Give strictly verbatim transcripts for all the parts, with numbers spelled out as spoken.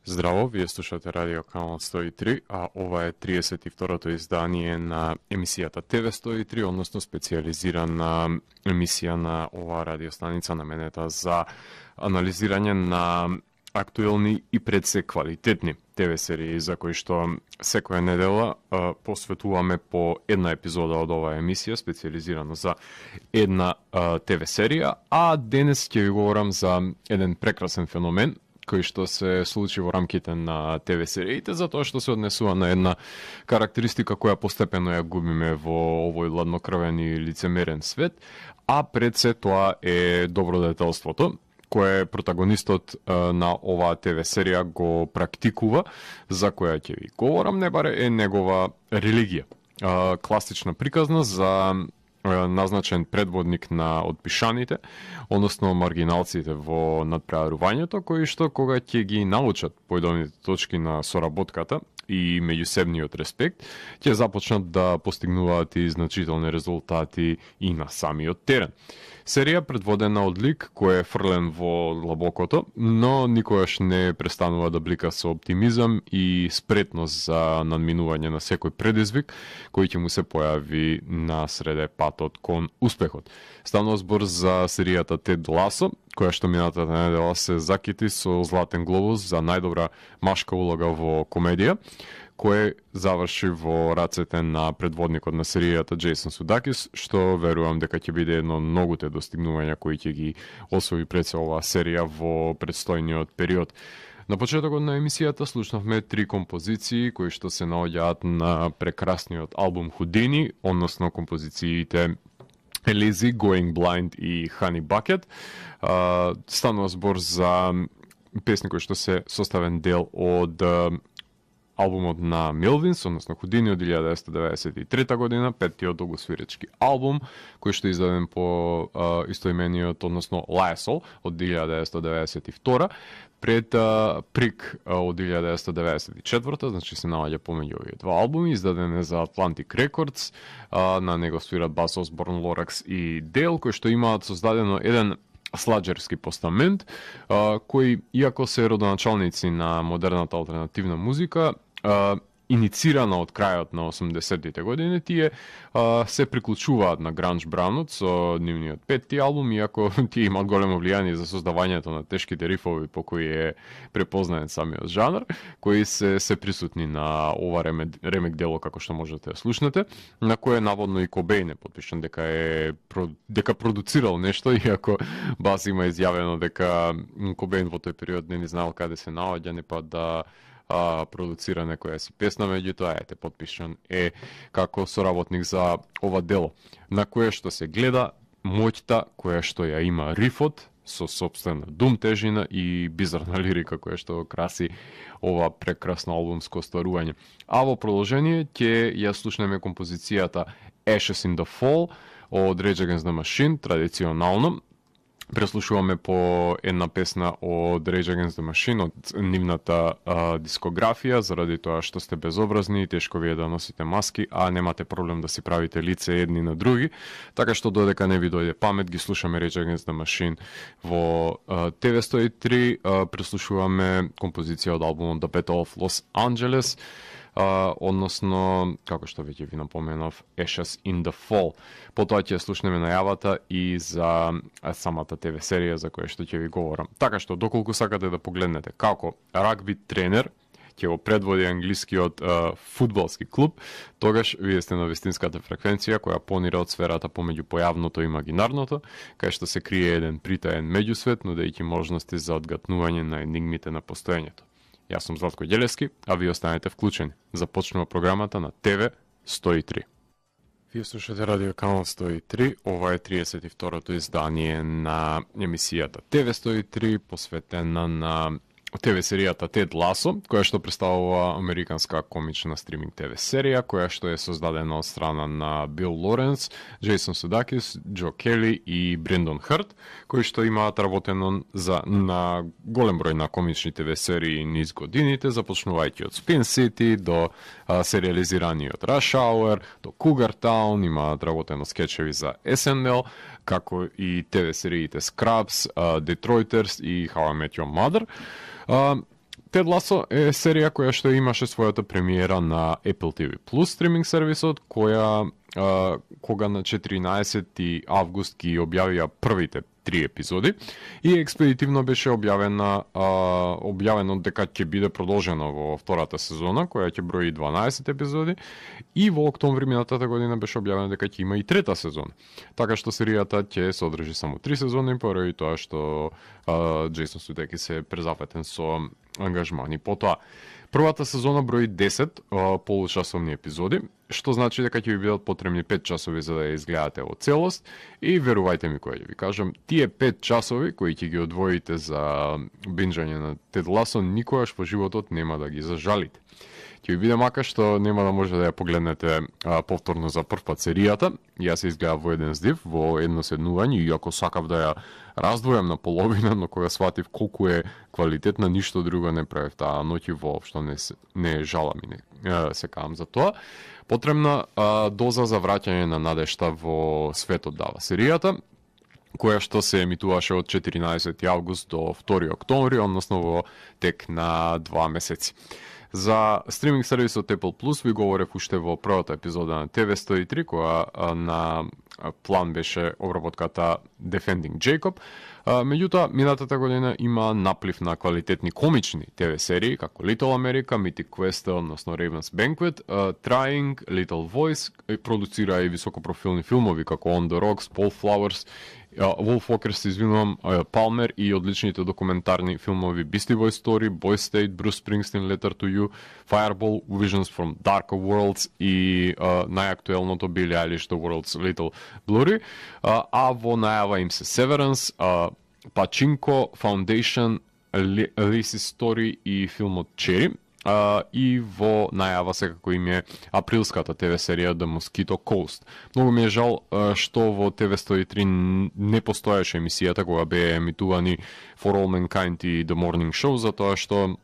Здраво, вие слушате Радио Канал сто и три, а ова е триесет и второто издание на емисијата Т В сто и три, односно специјализирана емисија на оваа радиостаница наменета за анализирање на актуелни и пред се квалитетни Т В серии за кои што секоја недела а, посветуваме по една епизода од оваа емисија, специјализирано за една а, Т В серија, а денес ќе ви говорам за еден прекрасен феномен кој што се случи во рамките на Т В сериите, затоа што се однесува на една карактеристика која постепено ја губиме во овој ладнокрвен и лицемерен свет, а пред се тоа е добродетелството, кое протагонистот а, на оваа Т В серија го практикува, за која ќе ви говорам, не баре е негова религија. А, класична приказна за назначен предводник на отпишаните, односно маргиналците во надпреварувањето, кои што кога ќе ги научат поедовните точки на соработката и меѓусебниот респект, ќе започнат да постигнуваат и значителни резултати и на самиот терен. Серија предводена од лик кој е фрлен во лабокото, но никогаш не престанува да блика со оптимизам и спретност за надминување на секој предизвик кој ќе му се појави на среде патот кон успехот. Станува збор за серијата Тед Ласо, која што минатата недела се закити со Златен глобус за најдобра машка улога во комедија, кој заврши во рацете на предводникот на серијата Джейсон Судакис, што верувам дека ќе биде едно од многуте достигнувања кои ќе ги освои пред се оваа серија во предстојниот период. На почетокот на емисијата слушнавме три композиции кои што се наоѓаат на прекрасниот албум Houdini, односно композициите Elise, Going Blind и Honey Bucket. Станува збор за песни кои што се составен дел од албумот на Милвинс, односно Houdini од илјада деветстотини деветдесет и трета година, петтиот долгосвиречки албум, кој што е издаден по а, истоимениот, односно Lysol од илјада деветстотини деветдесет и втора, пред а, Прик а, од илјада деветстотини деветдесет и четврта, значи се наоѓа помеѓу овие два албуми, издаден е за Atlantic Records, а, на него свират бас Осборн, Лоракс и Дейл, кои што имаат создадено еден сладжерски постамент, а, кои, иако се родоначалници на модерната алтернативна музика, Uh, иницирана од крајот на осумдесеттите години, тие uh, се приклучуваат на гранж бранот со нивниот петти албум, иако тие имаат големо влијание за создавањето на тешките рифови по кои е препознаен самиот жанр, кои се се присутни на ова ремек, ремек дело, како што можете да слушнете, на кое наводно и Кобейн е потпишан дека е дека продуцирал нешто, иако бас има изјавено дека Кобейн во тој период не ни знаел каде се наоѓа, не па да А, продуцира некоја си песна, меѓутоа ете потпишан е како соработник за ова дело, на кое што се гледа моќта која што ја има рифот со сопствена дум тежина и бизарна лирика која што краси ова прекрасно албумско остварување. А во продолжение ќе ја слушнеме композицијата Ashes in the Fall од Rage Against the Machine, традиционално. Преслушуваме по една песна од Rage Against the Machine, од нивната а, дискографија, заради тоа што сте безобразни и тешко ви е да носите маски, а немате проблем да си правите лице едни на други. Така што додека не ви дојде памет, ги слушаме Rage Against the Machine во а, Т В сто и три, а, преслушуваме композиција од албумот The Battle of Los Angeles, Uh, односно, како што веќе ви напоменав, Ashes in the Fall. Потоа ќе слушнеме најавата и за самата Т В серија за која што ќе ви говорам. Така што, доколку сакате да погледнете како рагби тренер ќе го предводи англискиот uh, фудбалски клуб, тогаш вие сте на вистинската фреквенција која понира од сферата помеѓу појавното и имагинарното, кај што се крие еден притаен меѓусвет, нудејќи можности за одгатнување на енигмите на постоењето. Јас сум Златко Ѓелевски, а ви останете вклучени. Започнува програмата на Т В сто и три. Вие слушате Радио Канал сто и три, ова е триесет и второто издание на емисијата Т В сто и три, посветена на Т В серијата Тед Ласо, која што представува американска комична стриминг Т В серија, која што е создадена од страна на Бил Лоренс, Джейсон Судакис, Џо Кели и Брендон Хрт, кои што имаат работено за, на голем број на комични Т В серии низ годините, започнувајќи од Spin City до а, сериализираниот Rush Hour, до Cougar Town, имаат работено скечеви за С Н Л, како и Т В сериите Scrubs, uh, Detroiters и How I Met Your Mother. Uh, Т Тед Ласо е серија која што имаше својата премиера на Apple ти ви Plus стриминг сервисот, која а, кога на четиринаесети август ги објавија првите три епизоди и експедитивно беше објавена а, објавено дека ќе биде продолжена во втората сезона, која ќе брои дванаесет епизоди, и во октомври минатата година беше објавено дека ќе има и трета сезона. Така што серијата ќе содржи само три сезони, поради тоа што а, Джейсон Судекис се презапетен со ангажмани. Потоа, првата сезона брои десет а, получасовни епизоди, што значи дека ќе ви бидат потребни пет часови за да ја изгледате во целост, и верувајте ми кога ќе ви кажам, тие пет часови кои ќе ги одвоите за бинџање на Тед Ласо никогаш во животот нема да ги зажалите. Ќе ви биде мака што нема да може да ја погледнете а, повторно за прв пат серијата. Јас се изгледав во еден здив, во едно седнување, иако сакав да ја раздвојам на половина, но кога сватив колку е квалитетна, ништо друго не правев таа ноќ и воопшто не, не жалам и не а, се кавам за тоа. Потребна а, доза за враќање на надежта во светот дава серијата, која што се емитуваше од четиринаесети август до втори октомври, односно во тек на два месеци. За стриминг сервисот Apple Plus ви говорев уште во првата епизода на Т В сто и три, која а, на план беше обработката Defending Jacob. А, меѓутоа, минатата година има наплив на квалитетни комични Т В серии, како Little America, Mythic Quest, односно Raven's Banquet, uh, Trying, Little Voice, продуцира и високопрофилни филмови, како On the Rocks, Paul Flowers, Wolf Walker, се извинувам, Palmer, и одличните документарни филмови Beastie Boys Story, Boy State, Bruce Springsteen, Letter to You, Fireball, Visions from Darker Worlds и uh, најактуелното Billie Eilish, The World's Little Blurry, uh, а во најава им се Severance, uh, Pachinko, Foundation, Lizzie's Story и филмот Cherry. Uh, и во најава секако им е априлската Т В серија The Mosquito Coast. Многу ми е жал uh, што во Т В сто и три не постоеше емисијата кога беа емитувани For All Mankind и The Morning Show, затоа што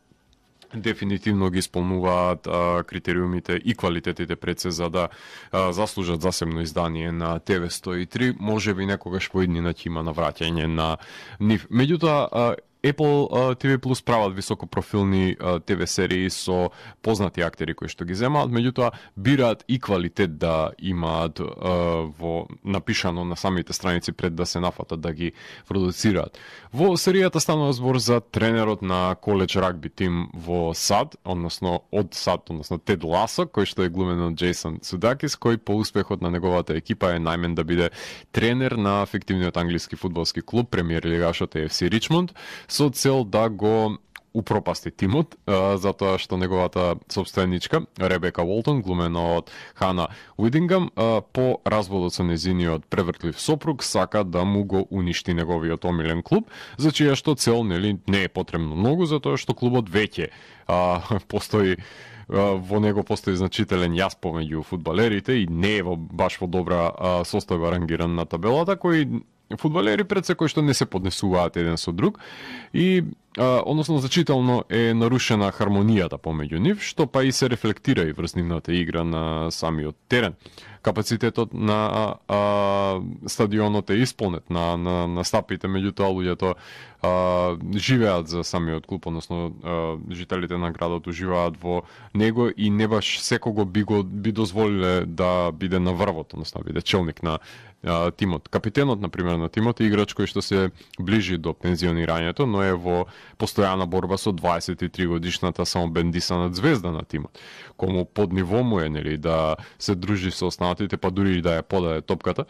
дефинитивно ги исполнуваат а, критериумите и квалитетите пред се за да а, заслужат засебно издание на Т В сто и три. Може би некогаш во иднина ќе има навраќање на нив. Меѓутоа, Apple uh, ти ви Plus прават високопрофилни uh, Т В серии со познати актери кои што ги земаат, меѓутоа бираат и квалитет да имаат uh, во напишано на самите страници пред да се нафатат да ги продуцираат. Во серијата станува збор за тренерот на коледж рагби тим во САД, односно од САД, односно Тед Ласо, кој што е глумен од Джейсон Судакис, кој по успехот на неговата екипа е најмен да биде тренер на фиктивниот англиски фудбалски клуб премиер лигашот Еф Си Ричмонд, со цел да го упропасти тимот, а, затоа што неговата собственичка, Ребека Уолтон, глумена од Хана Уидингам, а, по разводот со незиниот превртлив сопруг, сака да му го уништи неговиот омилен клуб, за чија што цел нели не е потребно многу, затоа што клубот веќе а, постои во него постои значителен јас помеѓу фудбалерите и не е во, баш во добра а, состојба рангиран на табелата, кои фудбалери пред се кои што не се поднесуваат еден со друг и а, односно значително е нарушена хармонијата помеѓу нив, што па и се рефлектира и врз нивната игра на самиот терен. Капацитетот на а, стадионот е исполнет на, на, на стапите, меѓутоа луѓето а, живеат за самиот клуб, односно а, жителите на градот уживаат во него и не баш секого би го би дозволиле да биде на врвот, односно да биде челник на а, тимот. Капитенот, например, на тимот е играч кој што се ближи до пензионирањето, но е во постојана борба со дваесет и три годишната самобендисана звезда на тимот, кому под ниво му е нели да се дружи со останатите, па дури и да ја подаде топката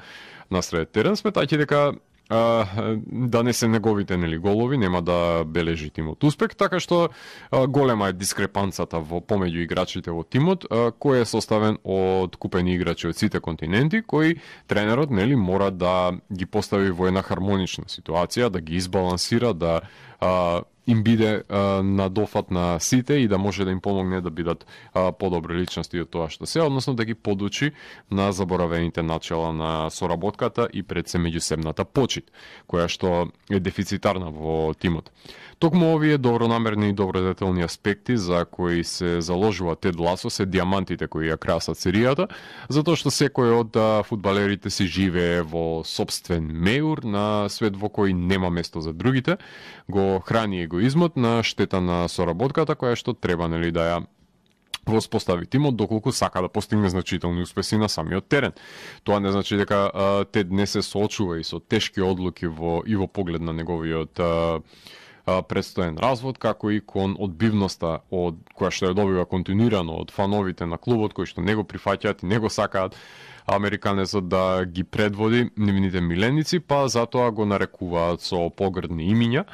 на сред терен, сметајќи дека а, да не се неговите нели голови нема да бележи тимот успех, така што а, голема е дискрепанцата во помеѓу играчите во тимот, а, кој е составен од купени играчи од сите континенти, кои тренерот нели мора да ги постави во една хармонична ситуација, да ги избалансира, да а, им биде а, на дофат на сите и да може да им помогне да бидат а, подобри личности од тоа што се, односно да ги подучи на заборавените начала на соработката и пред се меѓусебната почит, која што е дефицитарна во тимот. Токму овие добронамерни и добродетелни аспекти за кои се заложува Тед Ласо се диамантите кои ја красат серијата, затоа што секој од а, фудбалерите си живее во собствен меур на свет во кој нема место за другите, го храни и егоизмот на штета на соработката која што треба нели да ја воспостави тимот доколку сака да постигне значителни успеси на самиот терен. Тоа не значи дека а, Тед не се соочува и со тешки одлуки во и во поглед на неговиот а, а, предстоен развод, како и кон одбивноста од која што ја добива континуирано од фановите на клубот кои што не го прифаќаат и не го сакаат американецот да ги предводи нивните миленици, па затоа го нарекуваат со погрдни имиња.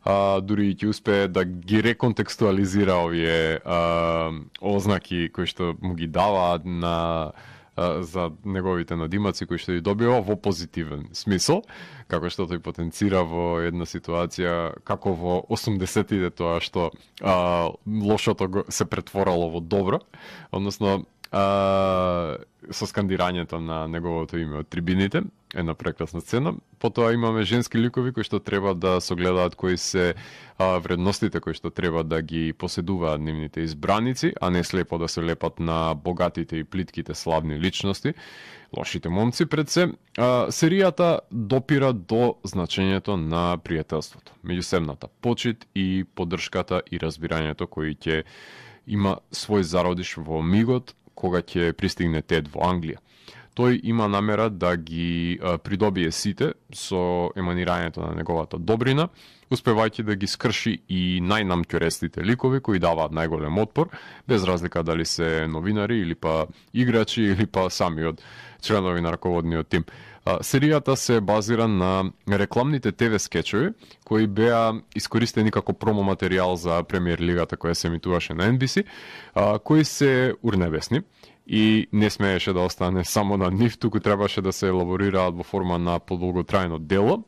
А, дури и ќе успее да ги реконтекстуализира овие а, ознаки кои што му ги даваат на а, за неговите надимаци кои што ги добива во позитивен смисол, како што тој потенцира во една ситуација како во осумдесетите тоа што а, лошото го се претворало во добро, односно а, со скандирањето на неговото име од трибините, една прекрасна сцена. Потоа имаме женски ликови кои што треба да согледаат кои се а, вредностите кои што треба да ги поседуваат нивните избраници, а не слепо да се лепат на богатите и плитките славни личности, лошите момци пред се. А, серијата допира до значењето на пријателството, меѓусебната почит и поддршката и разбирањето кои ќе има свој зародиш во мигот кога ќе пристигне Тед во Англија. Тој има намера да ги а, придобие сите со еманирањето на неговата добрина, успевајќи да ги скрши и најнамќорестите ликови кои даваат најголем отпор, без разлика дали се новинари или па играчи или па самиот членови на раководниот тим. А, серијата се базира на рекламните те ве скечови кои беа искористени како промо материјал за премиер лигата која се емитуваше на Ен Би Си, а, кои се урнебесни и не смееше да остане само на нив, туку требаше да се елаборираат во форма на подолготрајно дело.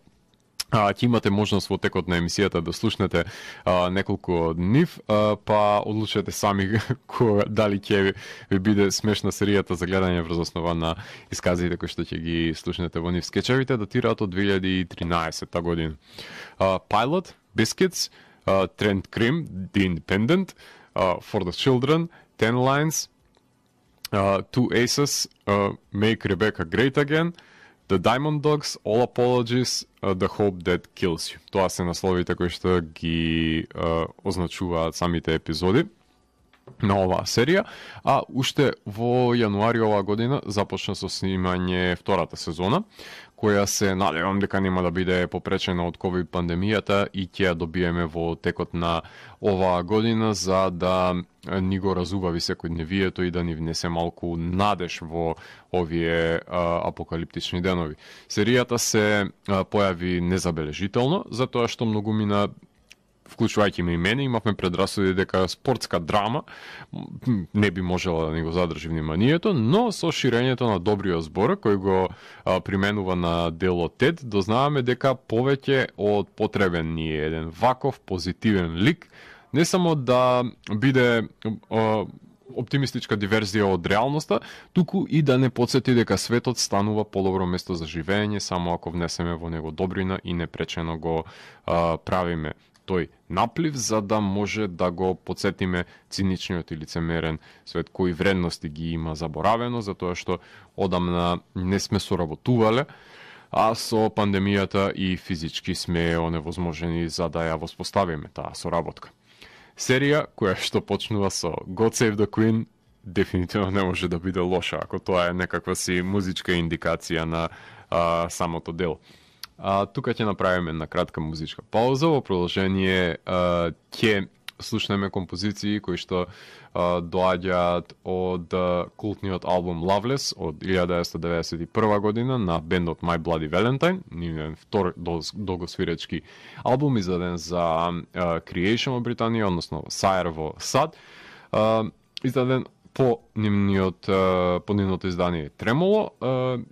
А, ќе имате можност во текот на емисијата да слушнете а, неколку од нив, а, па одлучете сами ко, дали ќе ви, ви биде смешна серијата за гледање врз основа на исказите кои што ќе ги слушнете во нив. Скечевите датираат од две илјади и тринаесетта година. А, Pilot, Biscuits, а, Trent Cream, The Independent, а, For the Children, Ten Lines, Uh, Two Aces, uh, Make Rebecca Great Again, The Diamond Dogs, All Apologies, uh, The Hope That Kills You. Тоа се насловите кои што ги uh, означуваат самите епизоди на оваа серија, а уште во јануари оваа година започна со снимање втората сезона, која се надевам дека нема да биде попречена од ковид пандемијата и ќе ја добиеме во текот на оваа година за да ни го разубави секојдневието и да ни внесе малку надеж во овие а, апокалиптични денови. Серијата се а, појави незабележително, затоа што многумина, вклучувајќи ме и мене, имавме предрасуди дека спортска драма не би можела да ни го задржи вниманието, но со ширењето на добриот збор кој го а, применува на делот Тед, дознаваме дека повеќе од потребен ни е еден ваков позитивен лик, не само да биде а, оптимистичка диверзија од реалноста, туку и да не подсети дека светот станува подобро место за живење само ако внесеме во него добрина и непречено го а, правиме тој наплив, за да може да го подсетиме циничниот и лицемерен свет кои вредности ги има заборавено, затоа што одамна не сме соработувале, а со пандемијата и физички сме оневозможени за да ја воспоставиме таа соработка. Серија која што почнува со God Save the Queen дефинитивно не може да биде лоша, ако тоа е некаква си музичка индикација на а, самото дело. А, тука ќе направиме една кратка музичка пауза, во продолжение а, ќе слушнеме композиции кои што а, доаѓаат од а, култниот албум Loveless од илјада деветстотини деветдесет и прва година на бендот My Bloody Valentine, нивен втор долгосвиречки албум издаден за а, Creation во Британија, односно Sire во САД, а, издаден по нивниот по нивното издание Тремоло.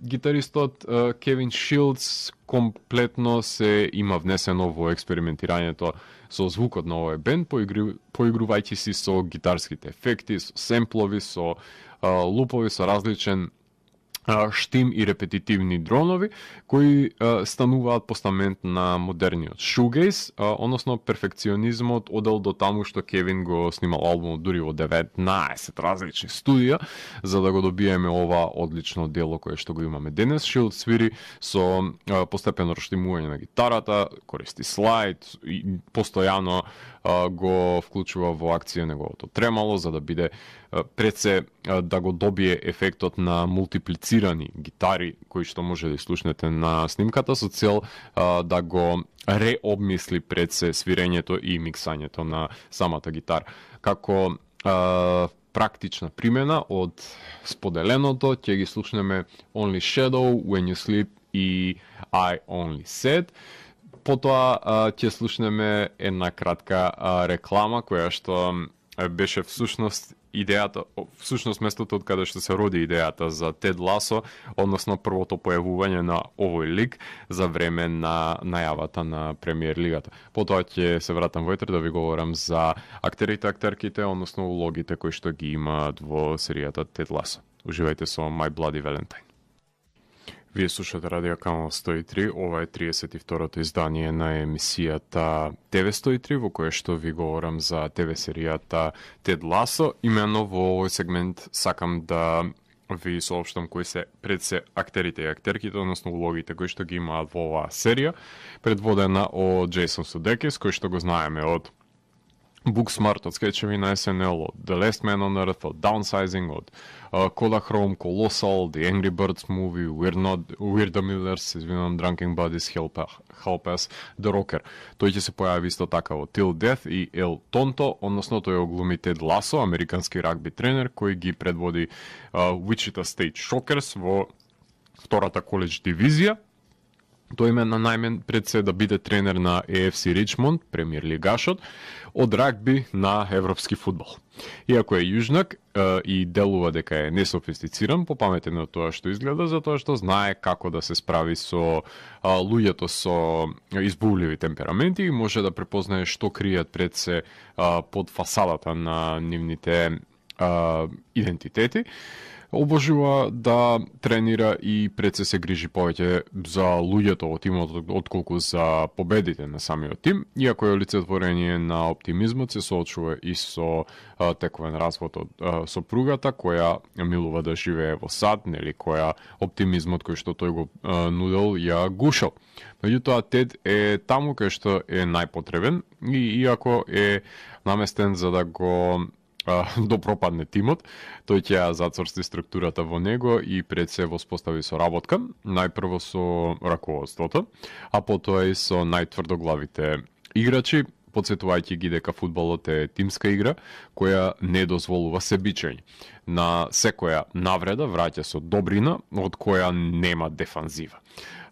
Гитаристот Кевин Шилдс комплетно се има внесено во експериментирањето со звукот на овој бенд, поигрувајќи си со гитарските ефекти, со семплови, со лупови, со различен штим и репетитивни дронови кои а, стануваат постамент на модерниот шугейс, односно перфекционизмот одел до таму што Кевин го снимал албумот дури во деветнаесет различни студија за да го добиеме ова одлично дело кое што го имаме денес. Шилд свири со а, постепено раштимување на гитарата, користи слайд и постојано а, го вклучува во акција неговото тремало за да биде а, пред се а, да го добие ефектот на мултиплицирани гитари кои што може да слушнете на снимката со цел а, да го реобмисли пред се свирењето и миксањето на самата гитара. Како а, практична примена од споделеното ќе ги слушнеме Only Shadow, When You Sleep и I Only Said. Потоа а, ќе слушнеме една кратка а, реклама која што беше всушност идејата, всушност местото од каде што се роди идејата за Тед Ласо, односно првото појавување на овој лик за време на најавата на Премиер лигата. Потоа ќе се вратам војтре да ви говорам за актерите, актерките, односно улогите кои што ги имаат во серијата Тед Ласо. Уживајте со My Bloody Valentine. Вие слушате Радио Канал сто и три, ова е триесет и второто издание на емисијата Т В сто и три, во кое што ви говорам за Т В серијата Тед Ласо. Имено во овој сегмент сакам да ви соопштам кои се пред се актерите и актерките, односно улогите кои што ги имаат во оваа серија, предводена од Джейсон Судекис, кој што го знаеме од Booksmart, од скетчеви на С Н Л, од The Last Man on Earth, од Downsizing, од uh, Kodachrome, Colossal, The Angry Birds Movie, We're Not, We're the Millers, извинувам, Drunken Buddies, Help, Help Us, The Rocker. Тој ќе се појави исто така во Till Death и El Tonto, односно тој оглуми Тед Ласо, американски рагби тренер, кој ги предводи uh, Wichita State Shockers во втората коледж дивизија. Тој име на најмен пред се да биде тренер на Е Ф Си Ричмонд, премиер лигашот, од рагби на европски фудбал. Иако е јужнак е, и делува дека е несофистициран, попаметен од тоа што изгледа, затоа што знае како да се справи со а, луѓето со избувливи темпераменти и може да препознае што кријат пред се а, под фасадата на нивните а, идентитети. Обожува да тренира и пред се се грижи повеќе за луѓето од тимот отколку за победите на самиот тим, иако е олицетворение на оптимизмот, се соочува и со а, тековен развод од а, сопругата, која милува да живее во сад, нели, која оптимизмот кој што тој го а, нудел ја гушал. Меѓутоа, Тед е таму кај што е најпотребен и иако е наместен за да го до пропадне тимот, тој ќе ја зацрсти структурата во него и пред се воспостави соработка, најпрво со раководството, а потоа и со најтврдоглавите играчи, подсетувајќи ги дека фудбалот е тимска игра која не дозволува себичење. На секоја навреда враќа со добрина од која нема дефанзива.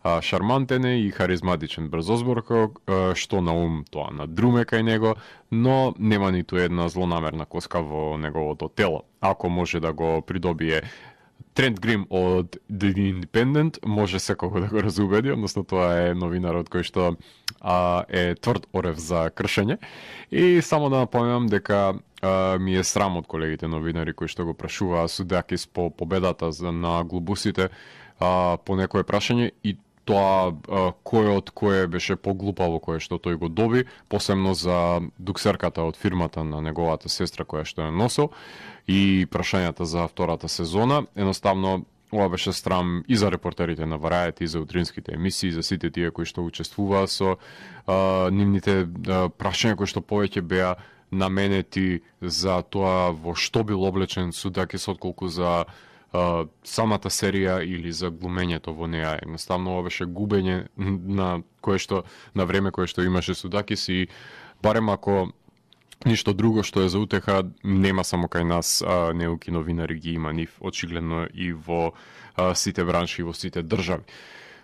Шармантен е и харизматичен брзозборко, што на ум тоа надруме кај него, но нема ниту една злонамерна коска во неговото тело. Ако може да го придобие Трент Грим од The Independent, може секој да го разубеди, односно тоа е новинарот кој што а, е тврд орев за кршење. И само да напомнам дека а, ми е срам од колегите новинари кои што го прашуваа Судакис по победата на глобусите а, по некое прашање и тоа а, кој од кое беше поглупаво кое што тој го доби, посебно за дуксерката од фирмата на неговата сестра која што ја носел и прашањата за втората сезона. Едноставно, ова беше срам и за репортерите на Variety, и за утринските емисии, за сите тие кои што учествуваа со а, нивните а, прашања кои што повеќе беа наменети за тоа во што бил облечен Судакис отколку за Uh, самата серија или за глумењето во неа. Едноставно ова беше губење на кое што на време кое што имаше Судакис и барем ако ништо друго што е за утеха, нема само кај нас а, неуки новинари ги има нив очигледно и во а, сите бранши и во сите држави.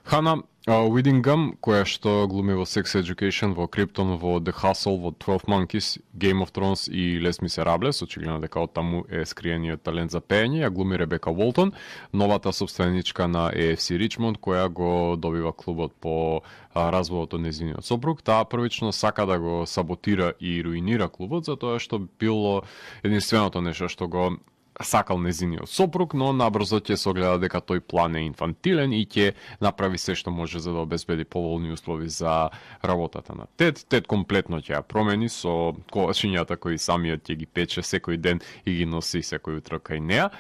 Хана Уидингам, која што глуми во Sex Education, во Криптон, во The Hustle, во twelve Monkeys, Game of Thrones и Les Miserables, очигледно дека од таму е скриениот талент за пеење, ја глуми Ребека Волтон, новата собственичка на Е Ф Си Ричмонд, која го добива клубот по развојот од нејзиниот сопруг. Таа првично сака да го саботира и руинира клубот, затоа што било единственото нешто што го сакал незиниот сопруг, но набрзо ќе согледа дека тој план е инфантилен и ќе направи се што може за да обезбеди поволни услови за работата на Тед. Тед комплетно ќе ја промени со ковачињата кои самиот ќе ги пече секој ден и ги носи секој утро кај неа.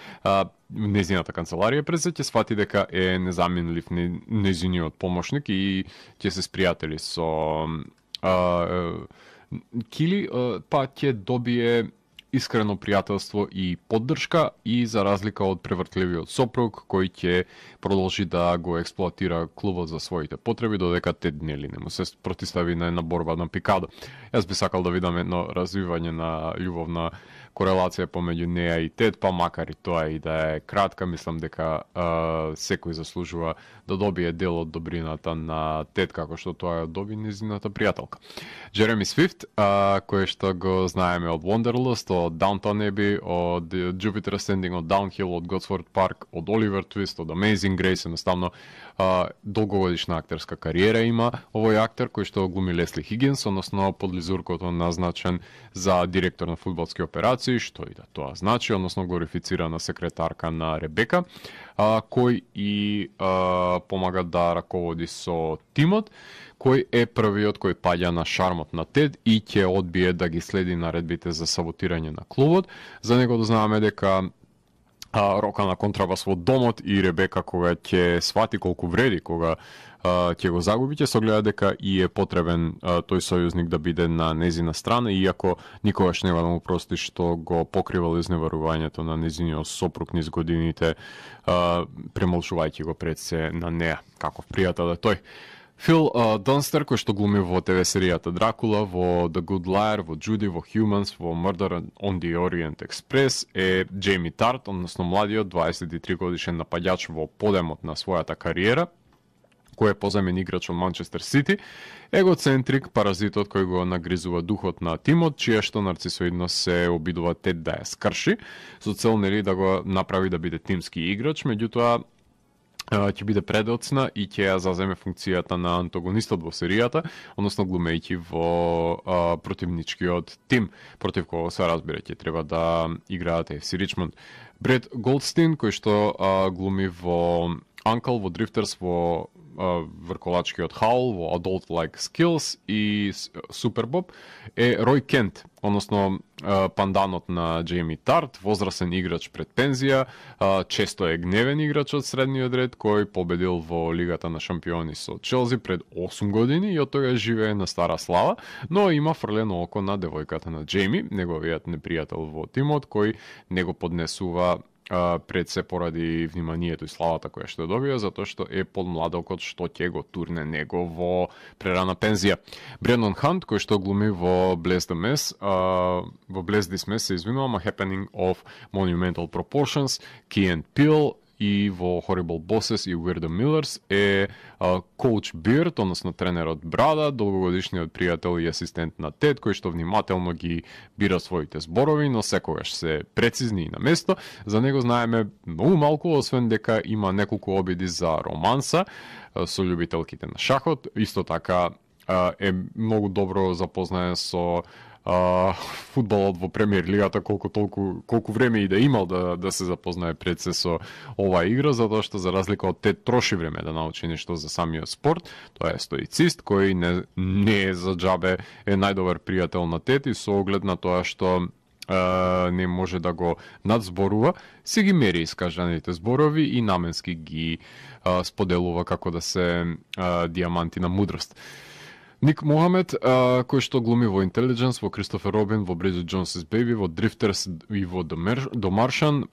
Незината канцеларија пред се ќе свати дека е незаменлив незиниот помошник и ќе се спријатели со а, Кили, па ќе добие искрено пријателство и поддршка и за разлика од превртливиот сопруг кој ќе продолжи да го експлоатира клубот за своите потреби додека Тед нели не му се протистави на една борба на пикадо. Јас би сакал да видам едно развивање на љубовна корелација помеѓу неа и Тед, па макар и тоа и да е кратка, мислам дека а, секој заслужува да добие дел од добрината на Тед како што тоа ја доби незината пријателка. Джереми Свифт, а, кој што го знаеме од Wanderlust, од Downton Abbey, од Jupiter Ascending, од Downhill, од Gosford Park, од Oliver Twist, од Amazing Grace, едноставно а, долгогодишна актерска кариера има овој актер кој што глуми Лесли Хигинс, односно подлизуркото назначен за директор на фудбалски операции, што и да тоа значи, односно глорифицирана секретарка на Ребека, а, кој и а, помага да раководи со тимот, кој е првиот кој паѓа на шармот на Тед и ќе одбие да ги следи наредбите за саботирање на клубот. За него да знаеме дека а, рока на контрабас во домот и Ребека кога ќе свати колку вреди, кога а, ќе го загуби, ќе согледа дека и е потребен а, тој сојузник да биде на незина страна, иако никогаш нема да му прости што го покривал изневарувањето на незиниот сопруг низ годините, а, премолчувајќи го пред се на неа, каков пријател е тој. Фил uh, Дунстер, кој што глуми во ТВ серијата Дракула, во The Good Liar, во Judy, во Humans, во Murder on the Orient Express, е Джейми Тарт, односно младиот дваесет и три годишен напаѓач во подемот на својата кариера, кој е позамен играч од Манчестер Сити, егоцентрик, паразитот кој го нагризува духот на тимот, чија што нарцисоидност се обидува Тед да ја скрши, со цел нели да го направи да биде тимски играч, меѓутоа ќе биде предоцна и ќе ја заземе функцијата на антагонистот во серијата, односно глумејќи во а, противничкиот тим, против кого се разбира ќе треба да играат Еф Си Ричмонд. Бред Голдстин, кој што а, глуми во Uncle, во Drifters, во а, врколачкиот Хаул, во Adult Like Skills и Супер Боб, е Рој Кент, односно а, панданот на Джейми Тарт, возрасен играч пред пензија, а, често е гневен играч од средниот ред, кој победил во Лигата на шампиони со Челси пред осум години и од тога живее на стара слава, но има фрлено око на девојката на Джейми, неговиот непријател во тимот, кој него поднесува пред се поради вниманието и славата која што добија, затоа што е подмладокот што ќе го турне него во прерана пензија. Брендон Хант, кој што глуми во Bless the Mess, uh, во Bless This Mess се извинувам, A Happening of Monumental Proportions, Key and Peele, и во Horrible Bosses и We're the Millers е uh, Коуч Бирд, односно тренерот Брада, долгогодишниот пријател и асистент на Тед, кој што внимателно ги бира своите зборови, но секогаш се прецизни и на место. За него знаеме многу малку, освен дека има неколку обиди за романса uh, со љубителките на шахот. Исто така uh, е многу добро запознаен со Uh, фудбалот во премиер лигата, колку толку колку време и да имал да да се запознае пред се со оваа игра, затоа што за разлика од Тед троши време да научи нешто за самиот спорт. Тоа е стоицист кој не не е за џабе е најдобар пријател на Тед и со оглед на тоа што Uh, не може да го надзборува, се ги мери искажаните зборови и наменски ги uh, споделува како да се uh, диаманти на мудрост. Ник Мохамед, uh, кој што глуми во Intelligence, во Кристофер Робин, во Bridget Jones's Baby, во Drifters и во The Martian,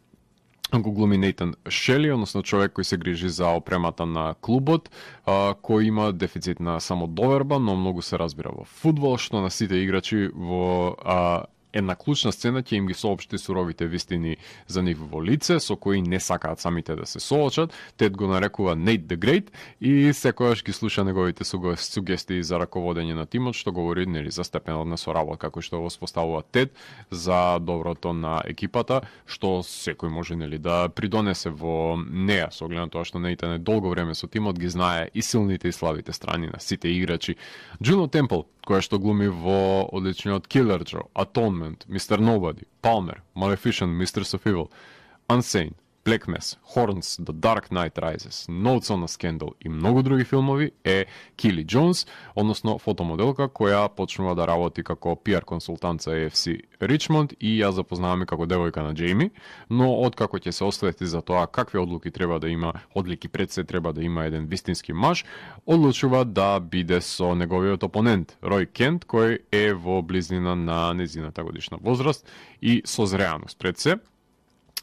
го глуми Нейтан Шели, односно човек кој се грижи за опремата на клубот, а, кој има дефицит на самодоверба, но многу се разбира во фудбал, што на сите играчи во а, една клучна сцена ќе им ги соопшти суровите вистини за нив во лице, со кои не сакаат самите да се соочат. Тед го нарекува Nate the Great и секојаш ги слуша неговите сугестии за раководење на тимот, што говори нели за степенот на соработка како што го споставува Тед за доброто на екипата, што секој може нели да придонесе во неа, со оглед на тоа што Нейтан е долго време со тимот, ги знае и силните и слабите страни на сите играчи. Джуно Темпл, која што глуми во одличниот Killer Joe, Atonement, мистер Nobody, Palmer, Maleficent, Mistress of Evil, Unsane, Black Mass, Horns, The Dark Knight Rises, Notes on a Scandal и многу други филмови е Кили Джонс, односно фотомоделка која почнува да работи како пи ар консултант за Ей Еф Си Ричмонд и ја запознаваме како девојка на Джейми, но откако ќе се освети за тоа какви одлуки треба да има, одлики пред се треба да има еден вистински маж, одлучува да биде со неговиот опонент Рој Кент, кој е во близнина на незината годишна возраст и созреаност пред се.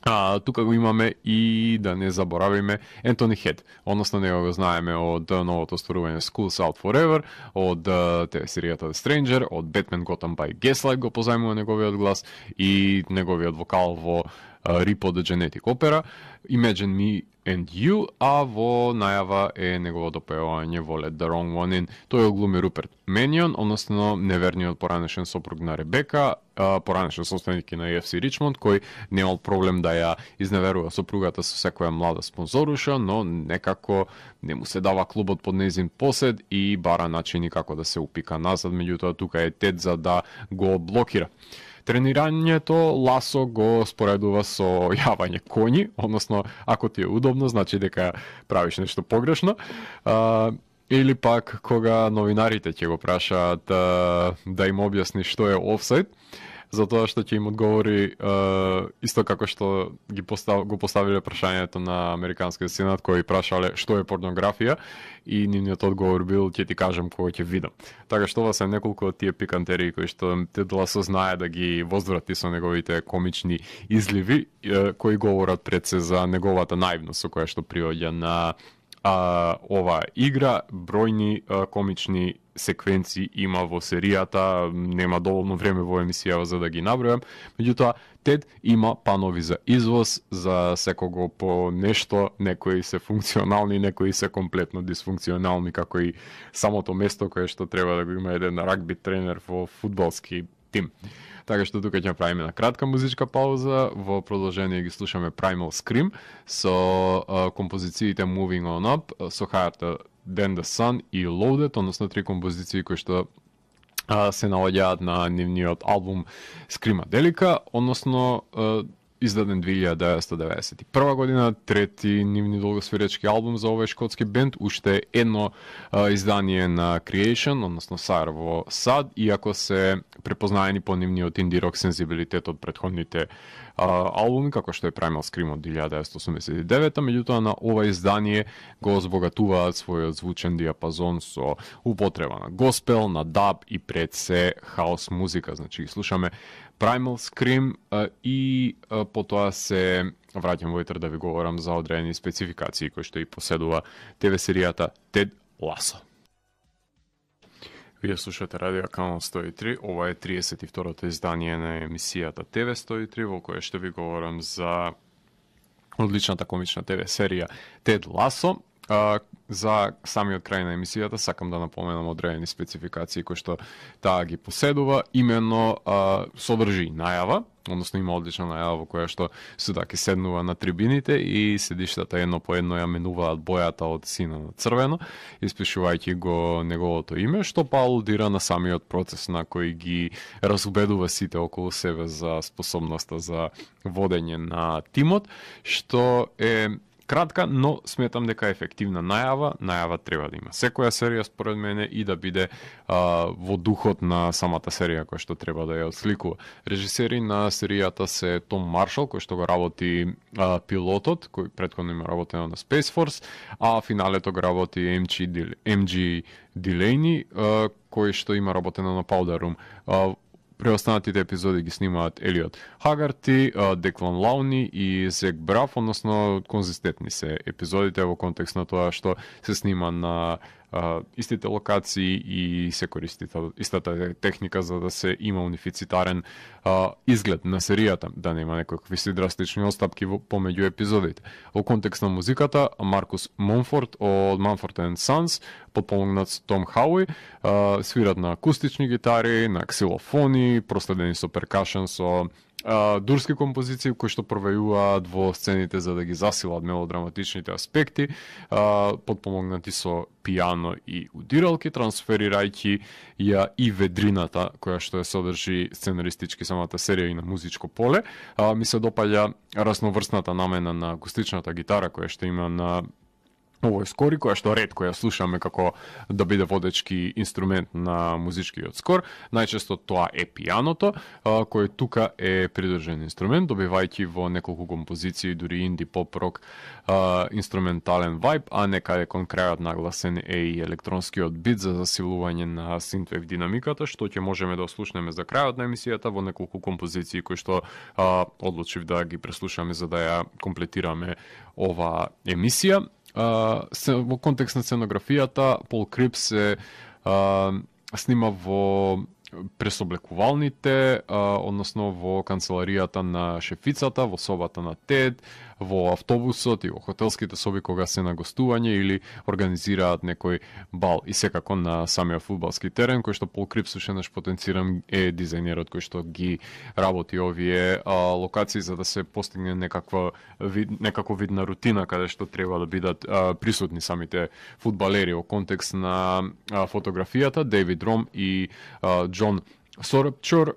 А, тука го имаме и да не заборавиме Ентони Хед, односно него го знаеме од новото стварување School's Out Forever, од те серијата The Stranger, од Batman Gotham by Gaslight го позајмува неговиот глас и неговиот вокал во Рипо the Genetic Opera, Imagine Me and You, а во најава е неговото пеување во Let the Wrong One In. Тој оглуми Руперт Менион, односно неверниот поранешен сопруг на Ребека, поранешен собственик на Ей Еф Си Ричмонд, кој немал проблем да ја изневерува сопругата со секоја млада спонзоруша, но некако не му се дава клубот под нејзин посед и бара начини како да се упика назад, меѓутоа тука е Тед за да го блокира. Тренирањето Ласо го споредува со јавање коњи, односно ако ти е удобно, значи дека правиш нешто погрешно. А, или пак кога новинарите ќе го прашаат да, да им објасни што е офсайд, затоа што ќе им одговори uh, исто како што ги постав, го поставиле прашањето на Американскиот сенат кој прашале што е порнографија и нивниот одговор бил ќе ти кажам кога ќе видам. Така што ова се неколку од тие пикантерии кои што Тед Ласо знае да ги возврати со неговите комични изливи uh, кои говорат пред се за неговата наивност со која што приоѓа на uh, ова игра. Бројни uh, комични секвенци има во серијата, нема доволно време во емисијава за да ги набројам, меѓутоа Тед има панови за извоз за секого по нешто, некои се функционални, некои се комплетно дисфункционални, како и самото место кое што треба да го има еден рагби тренер во фудбалски тим. Така што тука ќе направиме на кратка музичка пауза, во продолжение ги слушаме Primal Scream со uh, композициите Moving On Up, со Higher Than the Sun и Loaded, односно три композиции кои што а, се наоѓаат на нивниот албум Screamadelica, односно а, издаден две илјади деветстотини деветдесет и прва година, трети нивни долгосвиречки албум за овој шкотски бенд, уште едно а, издание на Creation, односно Sire во САД, иако се препознаени по нивниот инди-рок сензибилитет од претходните а, албуми, како што е Primal Scream од илјади деветстотини осумдесет и девета, меѓутоа на ова издание го збогатуваат својот звучен диапазон со употреба на госпел, на даб и пред се хаос музика. Значи ги слушаме Primal Scream а, и а, потоа се враќам во итер да ви говорам за одредени спецификации кои што и поседува те ве серијата Тед Ласо. Вие слушате Радио Канал сто и три, ова е триесет и второто издание на емисијата Те ве сто и три, во која што ви говорам за одличната комична Те ве серија Тед Ласо. А, за самиот крај на емисијата сакам да напоменам одредени спецификации кои што таа ги поседува, именно а, содржи најава, односно има одлична најава во која што судаки седнува на трибините и седиштата едно по едно ја менуваат бојата од сино на црвено, испишувајќи го неговото име, што па алудира на самиот процес на кој ги разубедува сите околу себе за способноста за водење на тимот, што е кратка, но сметам дека ефективна најава, најава треба да има секоја серија според мене и да биде а, во духот на самата серија која што треба да ја отсликува. Режисери на серијата се Том Маршал, кој што го работи а, пилотот, кој претходно има работено на Space Force, а финалето го работи Ем Џи Дилејни, а, кој што има работено на Powder Room. А, Преостанатите епизоди ги снимаат Елиот Хагарти, Деклан Лауни и Зек Брав, односно конзистентни се епизодите во контекст на тоа што се снима на а, истите локации и се користи истата техника за да се има унифицитарен а, изглед на серијата, да нема некакви си драстични остапки во, помеѓу епизодите. Во контекст на музиката, Маркус Монфорд од Mumford and Sons, подпомогнат со Том Хауи, а, свират на акустични гитари, на ксилофони, проследени со перкашен со а, дурски композиции кои што провејуваат во сцените за да ги засилат мелодраматичните аспекти, а, подпомогнати со пијано и удиралки, трансферирајќи ја и ведрината која што ја содржи сценаристички самата серија и на музичко поле. А, ми се допаѓа разноврсната намена на акустичната гитара која што има на овој скор, која што ретко ја слушаме како да биде водечки инструмент на музичкиот скор. Најчесто тоа е пијаното, кој тука е придржен инструмент, добивајќи во неколку композиции, дури инди, поп, рок, инструментален вајб, а некаде кон крајот нагласен е и електронскиот бит за засилување на синтвев динамиката, што ќе можеме да ослушнеме за крајот на емисијата во неколку композиции кои што а, одлучив да ги преслушаме за да ја комплетираме ова емисија. Uh, во контекст на сценографијата, Пол Крипс се uh, снима во пресоблекувалните, uh, односно во канцеларијата на шефицата, во собата на Тед, во автобусот и во хотелските соби кога се на гостување или организираат некој бал. И секако на самиот фудбалски терен, кој што Пол Крипс уште наш потенцирам е дизајнерот кој што ги работи овие а, локации за да се постигне некаква вид, некако вид на рутина каде што треба да бидат а, присутни самите фудбалери во контекст на а, фотографијата. Дейвид Ром и а, Џон Сорепчор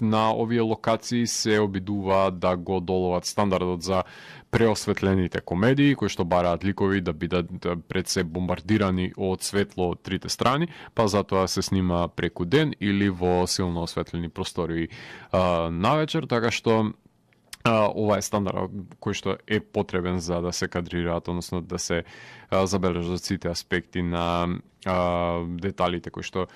на овие локации се обидуваат да го доловат стандардот за преосветлените комедии, кои што бараат ликови да бидат пред се бомбардирани од светло од трите страни, па затоа се снима преку ден или во силно осветлени простори а, навечер, така што Uh, ова е стандард кој што е потребен за да се кадрираат, односно да се uh, забележат сите аспекти на uh, деталите кои што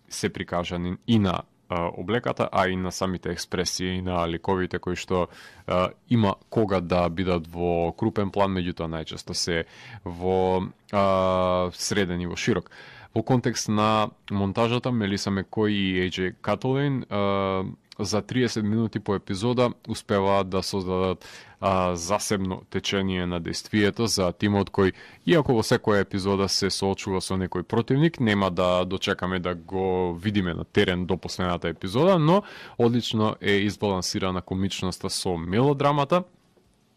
се прикажани и на uh, облеката, а и на самите експресии на ликовите кои што uh, има кога да бидат во крупен план, меѓутоа најчесто се во uh, среден и во широк. Во контекст на монтажата, Мелиса Мекој и Еј Џеј Католин uh, за триесет минути по епизода успеваат да создадат а, засебно течение на действието за тимот кој, иако во секоја епизода се соочува со некој противник, нема да дочекаме да го видиме на терен до последната епизода, но одлично е избалансирана комичноста со мелодрамата.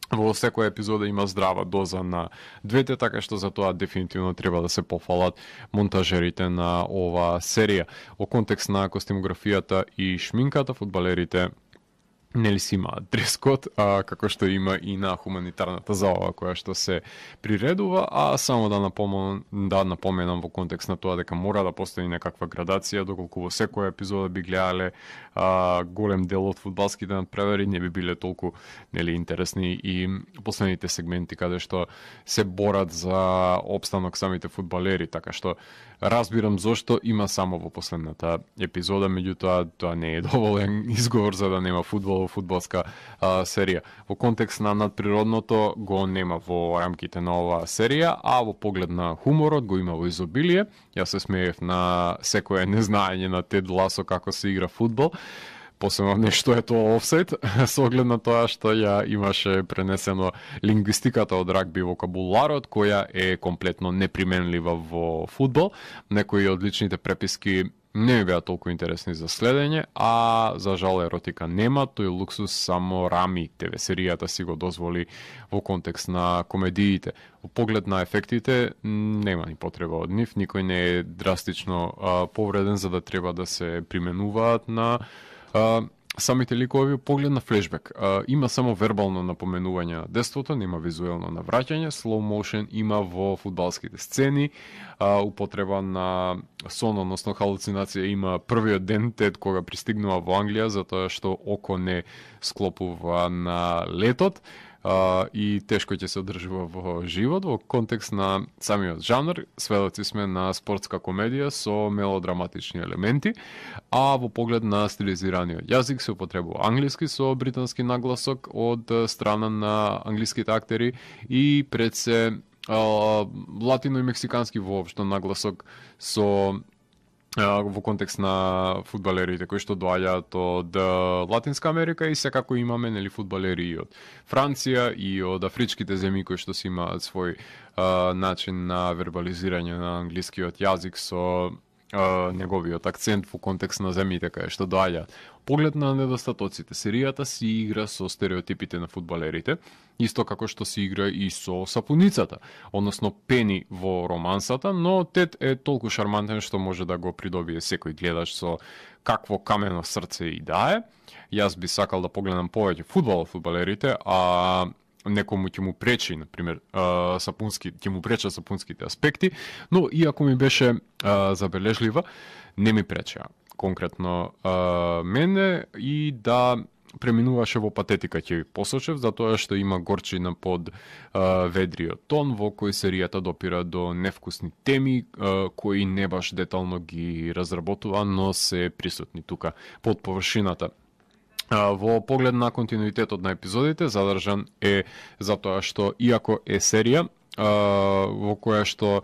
Во секоја епизода има здрава доза на двете, така што за тоа дефинитивно треба да се пофалат монтажерите на ова серија. Во контекст на костимографијата и шминката, фудбалерите нели си имаат дрес-код, а, како што има и на хуманитарната забава која што се приредува, а само да напоменам, да напоменам во контекст на тоа дека мора да постои некаква градација, доколку во секоја епизода би гледале а, голем дел од фудбалските надпревари, не би биле толку нели интересни и последните сегменти каде што се борат за опстанок самите фудбалери, така што разбирам зошто има само во последната епизода, меѓутоа тоа не е доволен изговор за да нема фудбал во фудбалска а, серија. Во контекст на надприродното го нема во рамките на оваа серија, а во поглед на хуморот го има во изобилие. Јас се смеев на секое незнаење на Тед Ласо како се игра фудбал. Посебно нешто е тоа офсайд, со оглед на тоа што ја имаше пренесено лингвистиката од рагби вокабуларот, која е комплетно неприменлива во фудбал. Некои од личните преписки не ми беа толку интересни за следење, а за жал еротика нема, тој луксус само Рами те ве серијата си го дозволи во контекст на комедиите. Во поглед на ефектите нема ни потреба од нив, никој не е драстично а, повреден за да треба да се применуваат на Uh, самите ликови. Поглед на флешбек. Uh, има само вербално напоменување на детството, нема визуелно навраќање. Slow motion има во фудбалските сцени. Uh, употреба на сон, односно халуцинација има првиот ден Тед кога пристигнува во Англија, затоа што око не склопува на летот. Uh, и тешко ќе се одржува во живот. Во контекст на самиот жанр, сведоци сме на спортска комедија со мелодраматични елементи, а во поглед на стилизираниот јазик се употребува англиски со британски нагласок од страна на англиските актери и пред се uh, латино и мексикански воопшто нагласок со во контекст на фудбалерите кои што доаѓаат од Латинска Америка и секако имаме нели фудбалери и од Франција и од афричките земји кои што си имаат свој а, начин на вербализирање на англискиот јазик со а, неговиот акцент во контекст на земјите каде што доаѓаат. поглед на недостатоците, серијата си игра со стереотипите на фудбалерите, исто како што се игра и со сапуницата, односно Пени во романсата, но Тед е толку шармантен што може да го придобие секој гледач со какво камено срце и да е. Јас би сакал да погледам повеќе фудбал од фудбалерите, а некому ќе му пречи, например, сапунски, ќе му пречат сапунските аспекти, но иако ми беше а, забележлива, не ми пречеа конкретно а, мене и да преминуваше во патетика, ќе ви посочев, затоа што има горчина под а, ведриот тон, во кој серијата допира до невкусни теми, а, кои не баш детално ги разработува, но се присутни тука под површината. Во поглед на континуитетот на епизодите, задржан е затоа што, иако е серија, во која што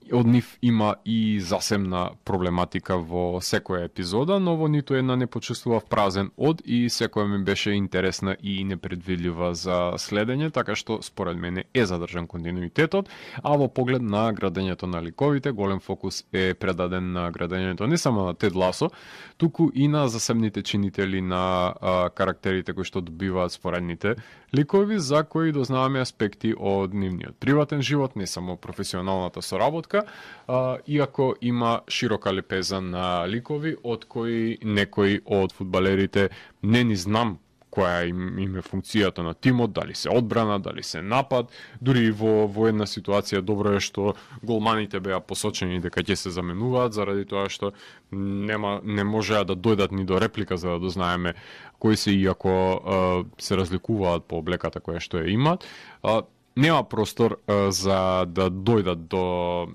од нив има и засебна проблематика во секоја епизода, но во ниту една не почувствував празен од и секоја ми беше интересна и непредвидлива за следење, така што според мене е задржан континуитетот, а во поглед на градењето на ликовите, голем фокус е предаден на градењето не само на Тед Ласо, туку и на засебните чинители на а, карактерите кои што добиваат споредните ликови, за кои дознаваме аспекти од нивниот приватен живот, не само професионалната соработка, а, иако има широка лепеза на ликови, од кои некои од фудбалерите не ни знам која им, им е функцијата на тимот, дали се одбрана, дали се напад, дури во, во една ситуација добро е што голманите беа посочени дека ќе се заменуваат, заради тоа што нема, не можеа да дојдат ни до реплика за да дознаеме кои се, иако а, се разликуваат по облеката која што ја имаат. А, нема простор а, за да дојдат до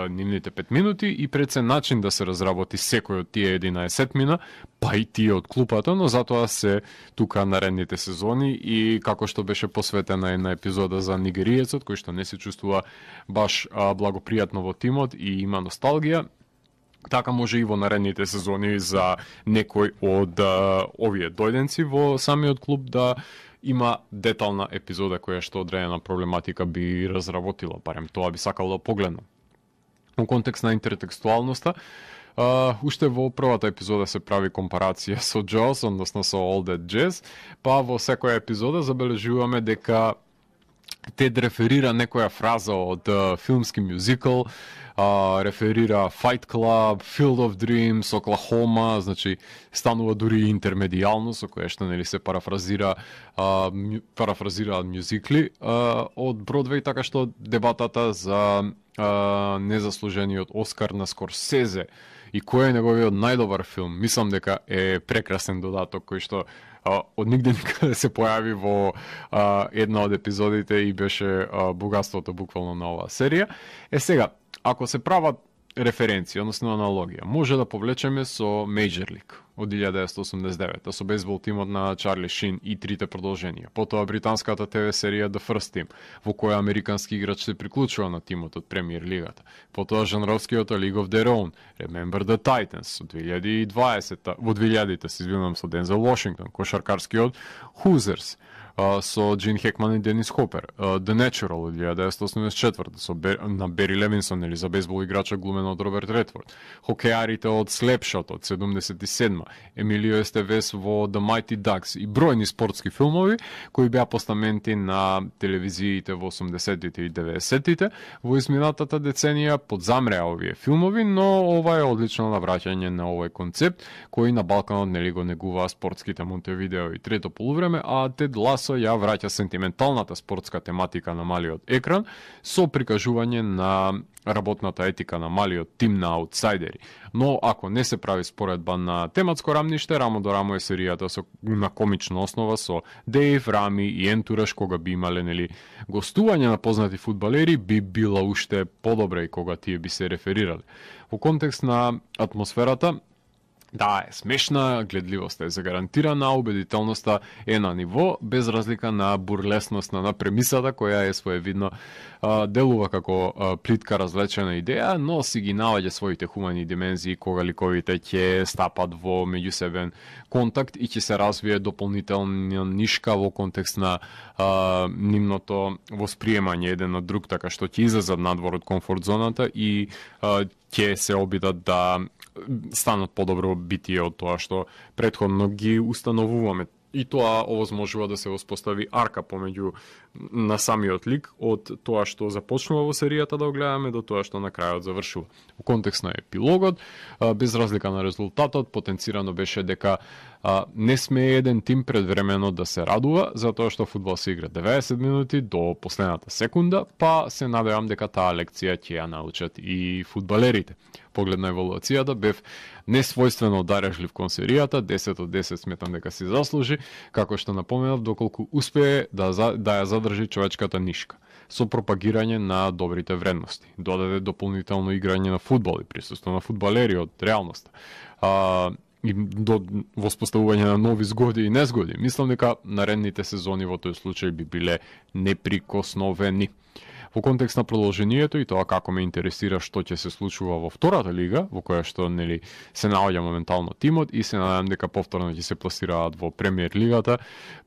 нивните пет минути и пред се начин да се разработи секој од тие единаесет мина, па и тие од клупата, но затоа се тука наредните сезони и како што беше посветена една епизода за нигериецот кој што не се чувствува баш а, благопријатно во тимот и има носталгија, така може и во наредните сезони за некој од а, овие дојденци во самиот клуб да има детална епизода која што одредена проблематика би разработила, барем тоа би сакал да погледнам. Во контекст на интертекстуалноста, uh, уште во првата епизода се прави компарација со Jaws, односно со All That Jazz, па во секоја епизода забележуваме дека Тед реферира некоја фраза од uh, филмски мюзикл, uh, реферира Fight Club, Field of Dreams, Oklahoma, значи станува дури интермедијално со кое што нели се парафразира uh, мю, парафразираат мюзикли uh, од Бродвеј, така што дебатата за uh, незаслужениот Оскар на Скорсезе и кој е неговиот најдобар филм, мислам дека е прекрасен додаток кој што Uh, од нигде никаде се појави во uh, една од епизодите и беше uh, богатството буквално на оваа серија. Е сега, ако се прават референција, односно аналогија, може да повлечеме со Major League од илјада деветстотини осумдесет и девета, со бейсбол тимот на Чарли Шин и трите продолженија. Потоа британската ТВ серија The First Team, во која американски играч се приклучува на тимот од премиер лигата. Потоа жанровскиот League of Their Own, Remember the Titans, од две илјади и дваесета, во две илјадите се извинувам, со Дензел Вашингтон, кошаркарскиот Hoosiers, Uh, со Джин Хекман и Денис Хопер, uh, The Natural од илјада деветстотини осумдесет и четврта со Бер, на Бери Левинсон или за бейсбол играча глумен од Роберт Редфорд, хокеарите од Слепшот од седумдесет и седма, Емилио Естевес во The Mighty Ducks и бројни спортски филмови кои беа постаменти на телевизиите во осумдесетите и деветдесетите. Во изминатата деценија подзамреа овие филмови, но ова е одлично навраќање на овој концепт кој на Балканот нели го негуваа спортските Монтевидео и трето полувреме, а Тед Ласо ја враќа сентименталната спортска тематика на малиот екран со прикажување на работната етика на малиот тим на аутсайдери. Но ако не се прави споредба на тематско рамниште, рамо до рамо е серијата со, на комична основа со Дейв, Рами и Ентураш, кога би имале нели гостување на познати фудбалери, би била уште подобра и кога тие би се реферирале. Во контекст на атмосферата, да, е смешна, гледливоста е загарантирана, убедителноста е на ниво, без разлика на бурлесноста на премисата, која е своевидно а, делува како а, плитка развлечена идеја, но си ги наоѓа своите хумани димензии кога ликовите ќе стапат во меѓусебен контакт и ќе се развие дополнителна нишка во контекст на а, нивното восприемање еден на друг, така што ќе излезат надвор од комфорт зоната и а, ќе се обидат да станат подобро битие од тоа што претходно ги установуваме. И тоа овозможува да се воспостави арка помеѓу на самиот лик од тоа што започнува во серијата да го гледаме до тоа што на крајот завршува. Во контекст на епилогот, без разлика на резултатот, потенцирано беше дека не сме еден тим предвремено да се радува, затоа што фудбал се игра деветдесет минути до последната секунда, па се надевам дека таа лекција ќе ја научат и фудбалерите. Поглед на еволуцијата бев несвојствено дарежлив кон серијата, десет од десет сметам дека си заслужи, како што напоменав, доколку успее да, да ја задржи човечката нишка со пропагирање на добрите вредности. Додаде дополнително играње на фудбал и присуство на фудбалери од реалноста. А, и до воспоставување на нови згоди и незгоди. Мислам дека наредните сезони во тој случај би биле неприкосновени. Во контекст на продолжението и тоа како ме интересира што ќе се случува во втората лига, во која што нели се наоѓа моментално тимот и се надевам дека повторно ќе се пласираат во премиер лигата,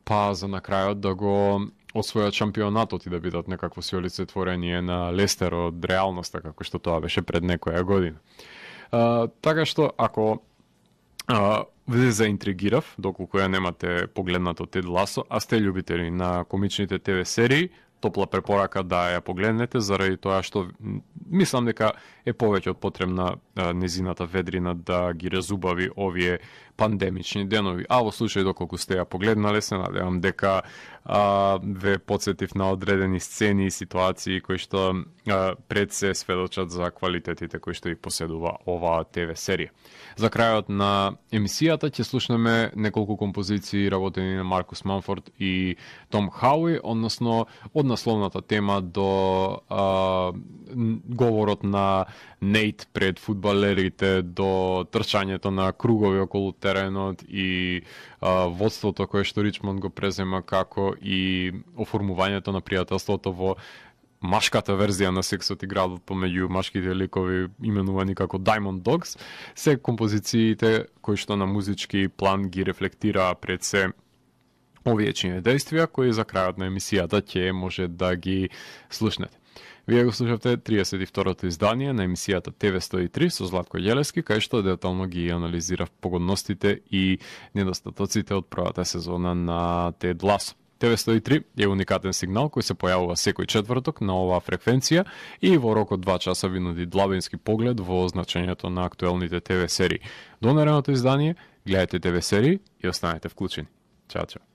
па за на крајот да го освојат шампионатот и да бидат некакво си олицетворение на Лестер од реалноста како што тоа беше пред некоја година. А, така што ако а, ве заинтригирав, доколку ја немате погледнато Тед Ласо, а сте љубители на комичните Т В серии, топла препорака да ја погледнете, заради тоа што мислам дека е повеќе од потребна а, незината ведрина да ги разубави овие пандемични денови. А во случај доколку сте ја погледнале, се надевам дека а, ве подсетив на одредени сцени и ситуации кои што а, пред се сведочат за квалитетите кои што и поседува оваа Т В серија. За крајот на емисијата ќе слушнеме неколку композиции работени на Маркус Манфорд и Том Хауи, односно од насловната тема до а, говорот на Нейт пред фудбалерите, до трчањето на кругови околу теренот и а, водството кое што Ричмонд го презема, како и оформувањето на пријателството во машката верзија на сексот и градот помеѓу машките ликови именувани како Diamond Dogs, се композициите кои што на музички план ги рефлектираа пред се овие чине действија кои за крајот на емисијата ќе може да ги слушнете. Вие го слушавте триесет и второто издание на емисијата Т В сто и три со Златко Јелески, кај што детално ги анализирав погодностите и недостатоците од првата сезона на Тед Ласо. Т В сто и три е уникатен сигнал кој се појавува секој четврток на оваа фреквенција и во рок од два часа ви нуди длабински поглед во значењето на актуелните Т В серии. До наредното издание, гледате Т В серии и останете вклучени. Чао, чао.